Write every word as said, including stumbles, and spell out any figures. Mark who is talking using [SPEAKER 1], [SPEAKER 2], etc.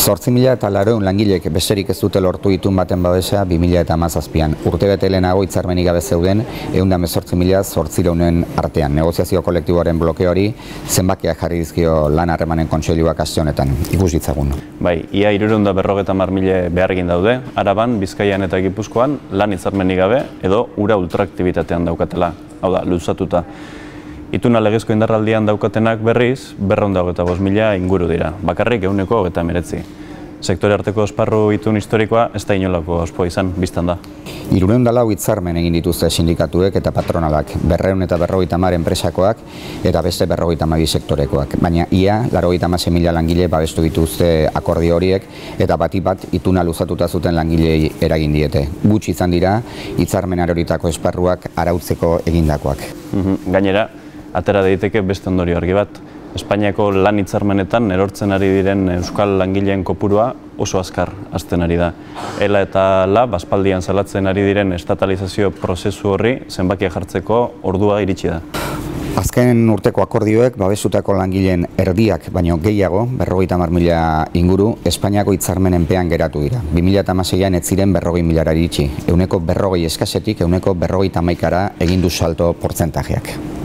[SPEAKER 1] Zortzi mila eta laurehun langilek besterik ez dute lortu itun baten babesa bi mila eta hamazazpian. Urtebete lehenago hitzarmenik gabe zeuden ehun eta hemezortzi mila zortziehun artean. Negoziazio kolektiboaren blokeori zenbakiak jarri dizkio lan harremanen kontseiluak aste honetan. Ikus ditzagun.
[SPEAKER 2] Bai, ia hirurehun eta berrogeita hamar mila behargin daude, Araban, Bizkaian eta Gipuzkoan lan hitzarmenik gabe edo ura ultraaktibitatean daukatela. Hau da, luzatuta. Ituna legezko indarraldian daukatenak berriz, berrehun eta hogeita bost mila inguru dira, bakarrik ehuneko hogeita hemeretzi. Sektore arteko esparru itun historikoa ez da inolako ospoa izan, biztan da.
[SPEAKER 1] Hirurehun eta lau hitzarmen egin dituzte sindikatuek eta patronalak, berrehun eta berrogeita hamar enpresakoak eta beste berrogeita hamabi sektorekoak. Baina ia, laurogeita hamasei mila langile babestu dituzte akordio horiek eta batik bat ituna luzatuta zuten langilei eragin diete. Gutxi izan dira, hitzarmen aroritako esparruak arautzeko egindakoak.
[SPEAKER 2] Gainera, atera daiteke beste ondorio argi bat. Espainiako lan hitzarmenetan erortzen ari diren euskal langileen kopurua oso azkar hazten ari da. Ela eta lab aspaldian salatzen ari diren estatalizazio prozesu horri zenbakia jartzeko ordua iritsi da.
[SPEAKER 1] Azken urteko akordioek babestutako langileen erdiak baino gehiago, berrogeita hamar mila inguru, Espainiako hitzarmenenpean geratu dira. bi mila eta hamaseian ez ziren berrogei milara iritsi. Ehuneko berrogei eskasetik ehuneko berrogeita hamaikara egin du salto portzentajeak.